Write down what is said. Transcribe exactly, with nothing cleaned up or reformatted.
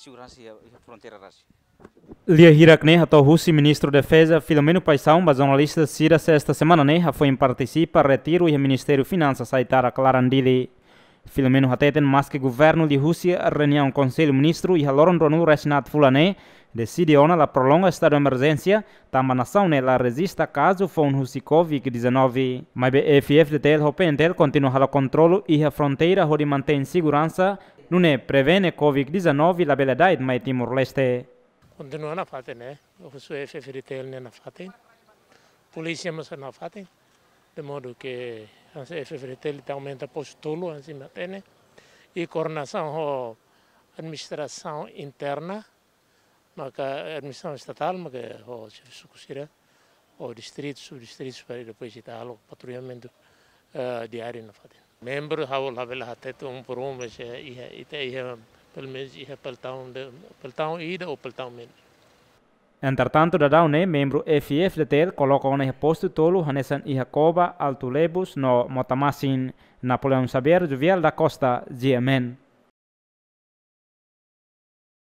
Seguransa iha, iha fronteira rasik. Lia hirak ne'e hato'o husi Ministru Defeza Filomeno Paixão ba jornalista sira sesta semana ne'e hafoin partisipa retiru iha Ministériu Finansas Aitarak laran Dili. Filomeno hateten maski governu liuhusi reuniaun Konsellu Ministru iha loron ruanulu-resin-haat fulan ne'e deside ona la prolonga estadu emerjénsia, tanba nasaun ne'e la rejista kazu foun husi Covid dezanove. Maibé F I F D T L ho P N T L kontinua halo kontrolu iha fronteira hodi mantein seguransa, nune'e prevene Covid dezanove labele da'et mai Timor-Leste. Kontinua nafatin, eh, husu F F D T L nia nafatin. Polísia mós nafatin. De modo ke hanesan F F D T L ita aumenta postu tolu, hanesan imi hatene. I koordenasaun ho administrasaun interna, maka administrasaun estatál, maka ho xefe suku sira, ho distritu, subdistritu, para depois ita halo patrullamentu, eh, diáriu nafatin. Membru ha'u labele hatete um por um, mas, eh, iha, ita iha, pelumenus iha peltaun de, peltaun ida ou peltaun menus. Entretantu, daudaun ne'e membru F I F D T L koloka ona iha postu tolu hanesan iha Coba, Alto Lebus no Motamasin. Napoleão Xavier, Juvial da Costa, G M N.